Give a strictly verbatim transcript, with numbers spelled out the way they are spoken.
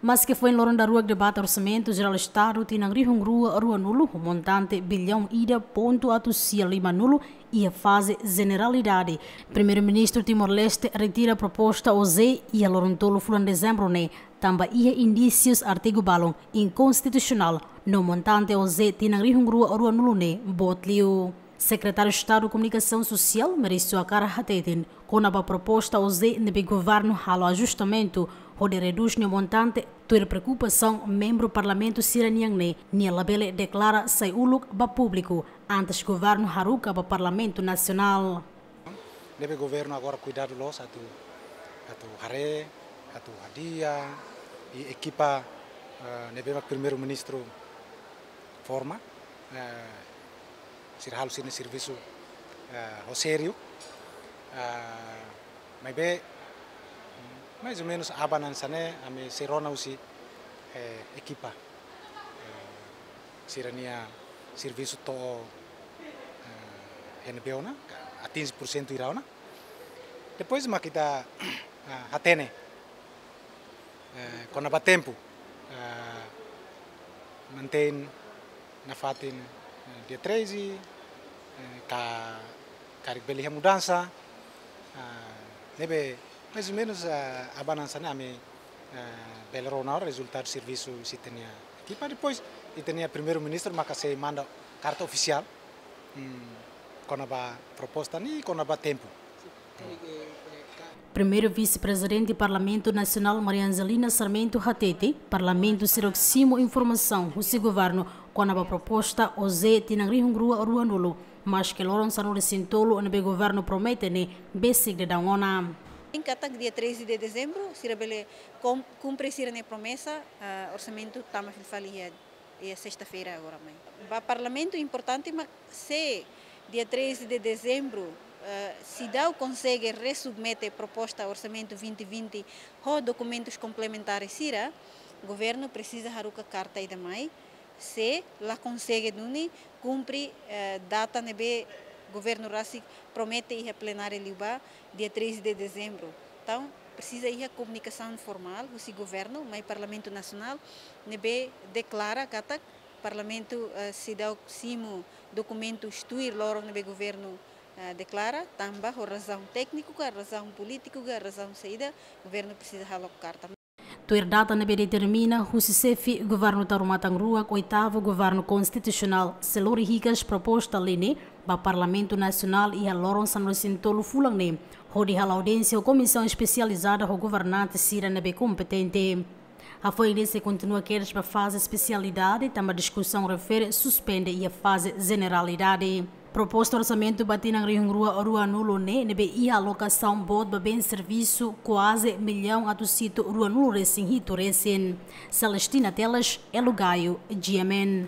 Maske foin loron daruak debate Orsamentu Jerál Estadu tinan rihun rua ruanulu ho montante billaun ida pontu atus sia limanulu iha faze jeneralidade, Primeiru-Ministru Timor-Leste retira proposta OJE iha loron tolu fulan Dezembru ne'e, tanba iha indísius artigu balun inkonstitusionál no montante OJE tinan rihun rua ruanulu ne'e boot liu. Sekretáriu Estadu Komunikasaun Sosiál, Maurício Acar hateten, kona-ba proposta OJE ne'ebé governu halo ajustamentu hodi redús nia montante, tuir preokupasaun membru Parlamentu sira-nian ne'e, nia labele deklara sai uluk ba públiku antes governu haruka ba Parlamentu Nasionál. Ne'ebé governu agora kuidadu loos atu, atu haree, atu hadi'a, i ekipa, eh, ne'ebé mak Primeiru-Ministru forma, eh, sira halo sira-nia servisu, eh, ho sériu, eh, maibé, mais ou menos aban hanesan ne'e, ami sei rona husi, eh, ekipa, eh, sira-nia servisu to'o, eh, N B O ona, atinje porsentu hira ona. Depois mak ita, ah, hatene, eh, kona-ba tempu, eh, mantein nafatin, eh, dia treze, eh, ka karik bele iha mudansa, ah, ne'ebé mais ou menos, ah, aban hanesan ne'e ami, eh, bele rona rezultadu servisu husi ita-nia ekipa. Depois ita-nia Primeiru-Ministru maka sei manda karta ofisiál, hmm, kona-ba proposta ne'e, kona-ba tempu. Primeiru Vise-Prezidente Parlamentu Nasionál Maria Angelina Sarmento hateten, Parlamentu seidauk simu informasaun husi governu kona-ba proposta OJE tinan rihun rua ruanulu, maske loron sanulu-resin-tolu ne'ebé governu promete ne'e besik daudaun ona. Katak dia treze de dezembru, sira bele kom-, kumpre sira-nia promesa, ah, orsamentu tama fila fali iha, iha sesta-feira agora mai. Ba Parlamentu importante mak se dia treze de dezembru, eh, seidauk konsege resubmete proposta orsamentu vinte vinte ho dokumentus komplementares sira, governu presiza haruka karta ida mai, se la konsege duni kumpre, eh, data ne'ebé governu rasik promete iha plenária liubá, dia treze de dezembru. Entaun, presiza iha komunikasaun formál husi governu mai Parlamentu Nasionál, ne'ebé deklara katak Parlamentu, eh, seidauk simu dokumentus tuir loron ne'ebé governu, eh, deklara, tanba ho razaun tékniku ka, razaun polítiku ka, razaun saida, governu presiza halo karta. Tuir data ne'ebé determina husi xefe governu Taur Matan Ruak, oitavu governu konstitusionál sei lori hikas proposta lei ne'e ba Parlamentu Nasionál iha loron sanulu-resin-tolu fulan ne'e, hodi halo audiénsia ho komisaun espesializada ho governante sira ne'ebé kompetente. Hafoin ne'e sei kontinua kedas ba faze espesialidade, tanba diskusaun refere suspende iha faze jeneralidade. Proposta orsamentu ba tinan rihun rua ruanulu ne'e, ne'ebé iha alokasaun boot ba bens servisu kuaze millaun atus hitu ruanulu-resin-hitu resin. Celestina Teles, Elo Gaio, G M N.